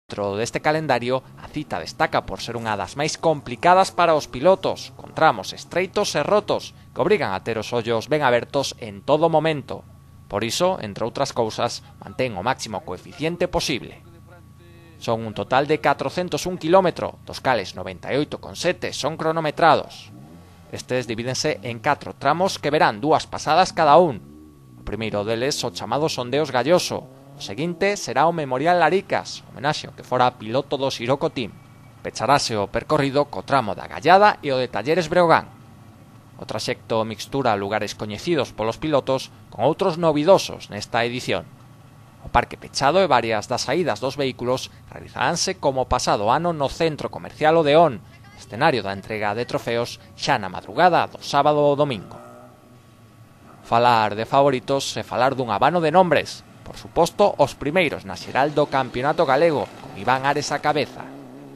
Dentro deste calendario, a cita destaca por ser unha das máis complicadas para os pilotos, con tramos estreitos e rotos, que obrigan a ter os ollos ben abertos en todo momento. Por iso, entre outras cousas, mantén o máximo coeficiente posible. Son un total de 401 km, dos cales 98,7 son cronometrados. Estes divídense en 4 tramos que verán 2 pasadas cada un. O primeiro deles o chamado Sondeos Galloso. O seguinte será o Memorial Laricas, homenaxe ao que fora piloto do Siroco Team. Pecharase o percorrido co tramo da Gallada e o de Talleres Breogán. O traxecto mixtura lugares coñecidos polos pilotos con outros novidosos nesta edición. O parque pechado e varias das saídas dos vehículos realizaránse como pasado ano no centro comercial Odeón, escenario da entrega de trofeos xa na madrugada do sábado ou domingo. Falar de favoritos é falar dun abano de nombres. Por suposto, os primeiros na xeral do Campeonato Galego, con Iván Ares á cabeza.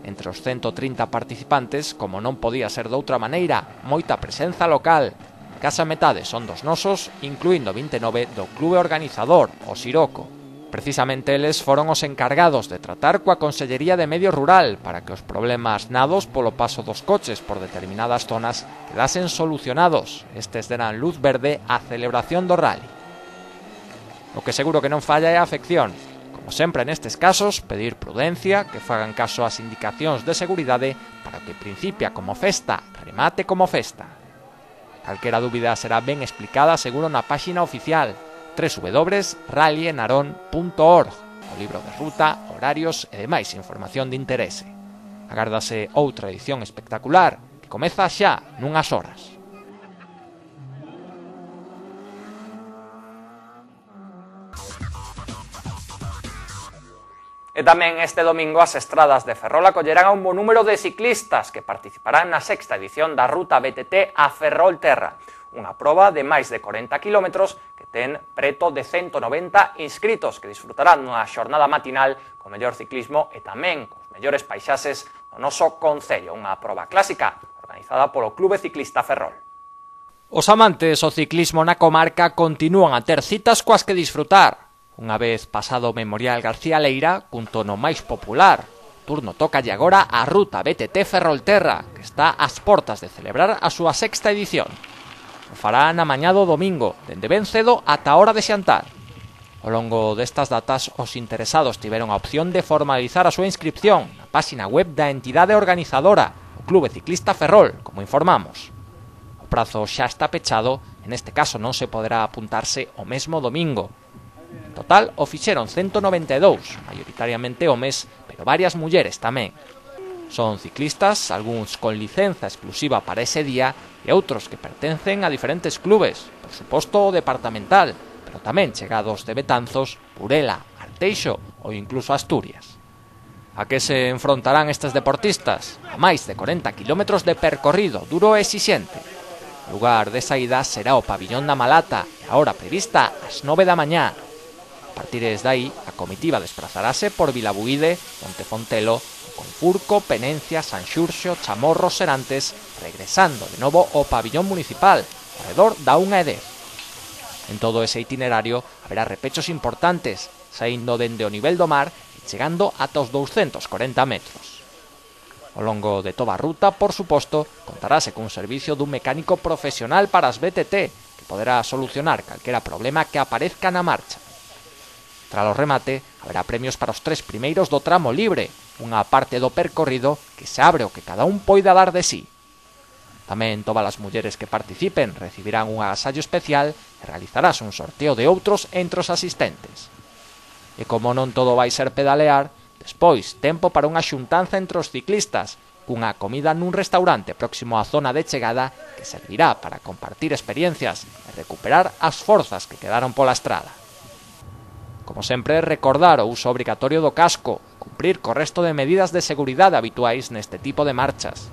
Entre os 130 participantes, como non podía ser doutra maneira, moita presenza local. Case a metade son dos nosos, incluindo 29 do clube organizador, o Siroco. Precisamente eles foron os encargados de tratar coa Consellería de Medio Rural para que os problemas nados polo paso dos coches por determinadas zonas quedasen solucionados. Estes deran luz verde á celebración do rally. O que seguro que non falla é a afección. Como sempre nestes casos, pedir prudencia, que fagan caso ás indicacións de seguridade para que principia como festa, remate como festa. Calquera dúbida será ben explicada seguro na páxina oficial www.rallyenarón.org, o libro de ruta, horarios e demais información de interese. Agárdase outra edición espectacular que comeza xa nunhas horas. E tamén este domingo as estradas de Ferrol acollerán a un bo número de ciclistas que participarán na sexta edición da Ruta BTT a Ferrolterra, unha proba de máis de 40 km que ten preto de 190 inscritos que disfrutarán nunha xornada matinal co mellor ciclismo e tamén cos mellores paisaxes do noso concello, unha proba clásica organizada polo Clube Ciclista Ferrol. Os amantes ao ciclismo na comarca continúan a ter citas coas que disfrutar. Unha vez pasado o Memorial García Leira, cun tono máis popular, turno tócalle agora a Ruta BTT Ferrolterra, que está ás portas de celebrar a súa sexta edición. O fará na mañá do domingo, dende ben cedo ata a hora de xantar. Ao longo destas datas, os interesados tiveron a opción de formalizar a súa inscripción na páxina web da entidade organizadora, o Clube Ciclista Ferrol, como informamos. O prazo xa está pechado, e neste caso non se poderá apuntarse o mesmo domingo. En total, o fixeron 192, maioritariamente homes, pero varias mulleres tamén. Son ciclistas, algúns con licenza exclusiva para ese día e outros que pertencen a diferentes clubes, por suposto o departamental, pero tamén chegados de Betanzos, Burela, Arteixo ou incluso Asturias. A que se enfrontarán estes deportistas? A máis de 40 km de percorrido duro e exixente. O lugar de saída será o Pabillón da Malata, e a hora prevista ás 9 da mañá. A partir de aí, a comitiva desplazarase por Vilabuíde, Montefontelo, Confurco, Penencia, Sanxurxo, Chamorros, Serantes, regresando de novo ao pabillón municipal, alrededor da 1:10. En todo ese itinerario haberá repechos importantes, saindo dende o nivel do mar e chegando ata os 240 metros. Ao longo de toda a ruta, por suposto, contarase cun servicio dun mecánico profesional para as BTT, que poderá solucionar calquera problema que aparezca na marcha. Tras o remate, haberá premios para os 3 primeiros do tramo libre, unha parte do percorrido que se abre o que cada un poida dar de sí. Tamén todas as mulleres que participen recibirán un agasallo especial e realizarás un sorteo de outros entre os asistentes. E como non todo vai ser pedalear, despois tempo para unha xuntanza entre os ciclistas, cunha comida nun restaurante próximo á zona de chegada que servirá para compartir experiencias e recuperar as forzas que quedaron pola estrada. Como sempre, recordar o uso obrigatorio do casco, cumprir co resto de medidas de seguridade habituais neste tipo de marchas.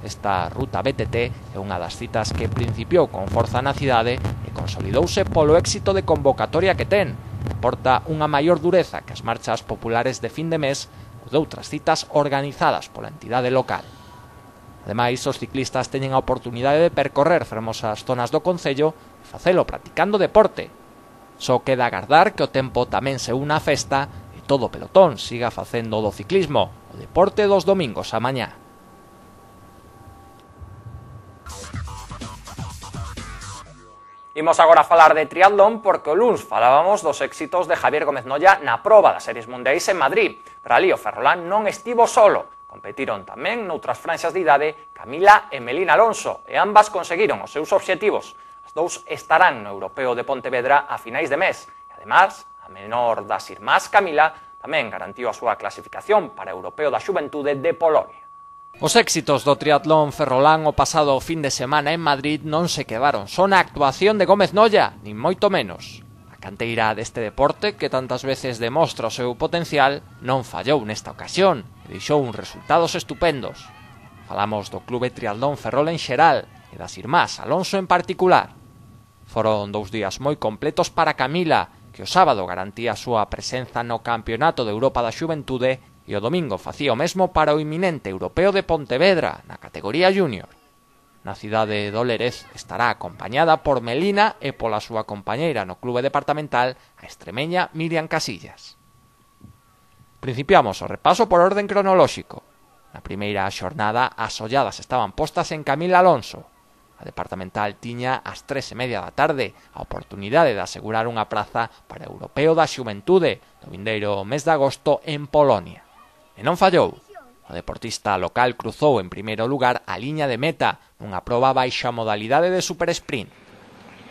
Esta Ruta BTT é unha das citas que principiou con forza na cidade e consolidouse polo éxito de convocatoria que ten. Porta unha maior dureza que as marchas populares de fin de mes ou de outras citas organizadas pola entidade local. Ademais, os ciclistas teñen a oportunidade de percorrer fermosas zonas do concello e facelo practicando deporte. Só queda agardar que o tempo tamén se una á festa e todo o pelotón siga facendo do ciclismo o deporte dos domingos á mañá. Imos agora a falar de triatlón porque o luns falábamos dos éxitos de Javier Gómez Noya na proba das Series Mundiais en Madrid, pero ali o ferrolán non estivo solo. Competiron tamén noutras franxas de idade Camila e Melina Alonso e ambas conseguiron os seus obxectivos. As dous estarán no Europeo de Pontevedra a finais de mes e, además, a menor das irmás Camila tamén garantiu a súa clasificación para o Europeo da Xuventude de Polonia. Os éxitos do triatlón ferrolán o pasado fin de semana en Madrid non se quedaron só na actuación de Gómez Noya, nin moito menos. A canteira deste deporte, que tantas veces demostra o seu potencial, non fallou nesta ocasión e deixou uns resultados estupendos. Falamos do Clube Triatlón Ferrol en xeral e das irmás Alonso en particular. Foron 2 días moi completos para Camila, que o sábado garantía a súa presenza no Campeonato de Europa da Xuventude e o domingo facía o mesmo para o inminente Europeo de Pontevedra na categoría júnior. Na cidade do Lérez estará acompañada por Melina e pola súa compañeira no clube departamental, a extremeña Miriam Casillas. Principiamos o repaso por orden cronolóxico. Na primeira xornada as olladas estaban postas en Camila Alonso. A departamental tiña ás 3:30 da tarde a oportunidade de asegurar unha praza para o Europeo da Xuventude no vindeiro mes de agosto en Polonia. E non fallou. O deportista local cruzou en primeiro lugar a liña de meta nunha proba baixa modalidade de supersprint.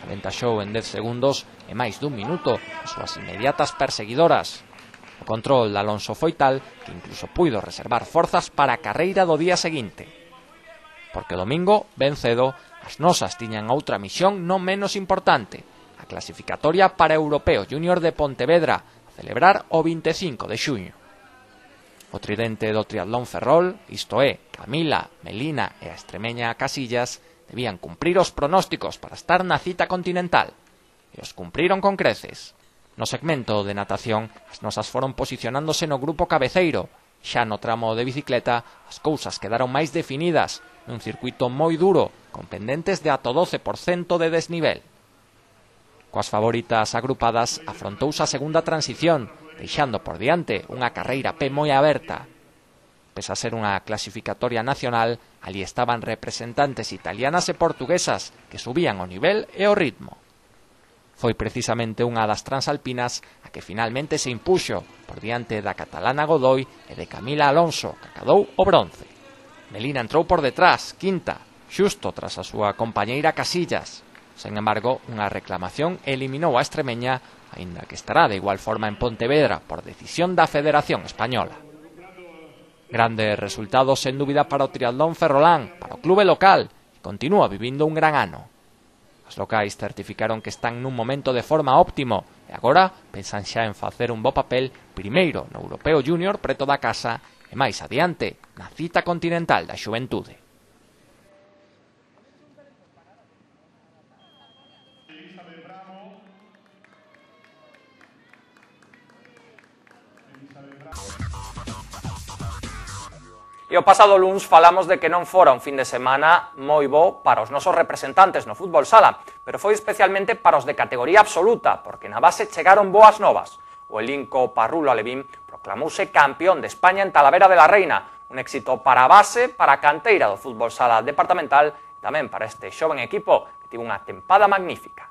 Aventaxou en 10 segundos e máis dun minuto as súas inmediatas perseguidoras. O control de Alonso foi tal que incluso puido reservar forzas para a carreira do día seguinte. Porque o domingo, ben cedo, as nosas tiñan outra misión non menos importante, a clasificatoria para o Europeo Júnior de Pontevedra, a celebrar o 25 de xuño. O tridente do triatlón ferrol, isto é, Camila, Melina e a extremeña Casillas, debían cumprir os pronósticos para estar na cita continental. E os cumpriron con creces. No segmento de natación, as nosas foron posicionándose no grupo cabeceiro. Xa no tramo de bicicleta, as cousas quedaron máis definidas, nun circuito moi duro, con pendentes de ata 12% de desnivel. Coas favoritas agrupadas, afrontouse a segunda transición, deixando por diante unha carreira P moi aberta. Pese a ser unha clasificatoria nacional, ali estaban representantes italianas e portuguesas que subían o nivel e o ritmo. Foi precisamente unha das transalpinas a que finalmente se impuxo por diante da catalana Godoy e de Camila Alonso, que acadou o bronce. Melina entrou por detrás, quinta, xusto tras a súa compañeira Casillas. Sen embargo, unha reclamación eliminou a extremeña, aínda que estará de igual forma en Pontevedra por decisión da Federación Española. Grandes resultados sen dúbida para o triatlón ferrolán, para o clube local, que continúa vivindo un gran ano. As locais certificaron que están nun momento de forma óptimo e agora pensan xa en facer un bo papel primeiro no Europeo Júnior preto da casa e máis adiante na cita continental da Xuventude. E o pasado luns falamos de que non fora un fin de semana moi bo para os nosos representantes no fútbol sala, pero foi especialmente para os de categoría absoluta, porque na base chegaron boas novas. O elinco Parrulo Alevín proclamouse campeón de España en Talavera de la Reina, un éxito para a base, para a canteira do fútbol sala departamental e tamén para este xoven equipo que tivo unha tempada magnífica.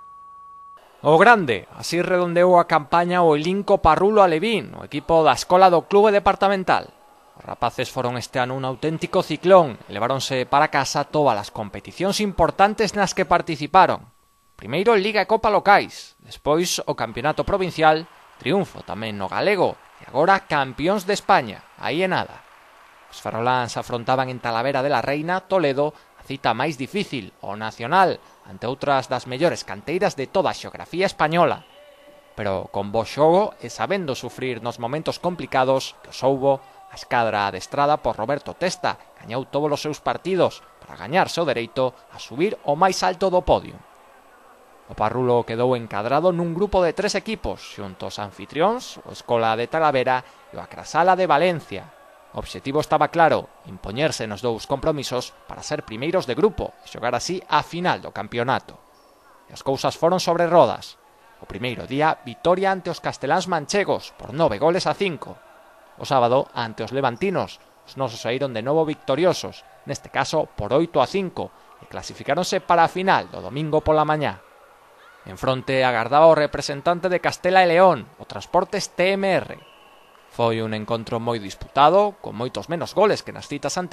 O grande, así redondeou a campaña o elinco Parrulo Alevín, o equipo da escola do clube departamental. Os rapaces foron este ano un auténtico ciclón e leváronse para casa todas as competicións importantes nas que participaron. Primeiro Liga e Copa locais, despois o Campeonato Provincial, triunfo tamén no galego e agora campións de España, aí é nada. Os ferroláns afrontaban en Talavera de la Reina, Toledo, a cita máis difícil, o nacional, ante outras das mellores canteiras de toda a xeografía española. Pero con bo xogo e sabendo sufrir nos momentos complicados que os houbo, a escadra adestrada por Roberto Testa gañou todos os seus partidos para gañarse o dereito a subir ao máis alto do podio. O Parrulo quedou encadrado nun grupo de 3 equipos, xunto aos anfitrións, o Escola de Talavera e o Acrasala de Valencia. O obxectivo estaba claro, impoñerse nos 2 compromisos para ser primeiros de grupo e xogar así a final do campeonato. E as cousas foron sobre rodas. O primeiro día, vitoria ante os casteláns manchegos por 9-5. O sábado, ante os levantinos, os nosos saíron de novo victoriosos, neste caso por 8-5, e clasificáronse para a final do domingo pola mañá. En fronte agardaba o representante de Castela e León, o Transportes TMR. Foi un encontro moi disputado, con moitos menos goles que nas citas anteriores,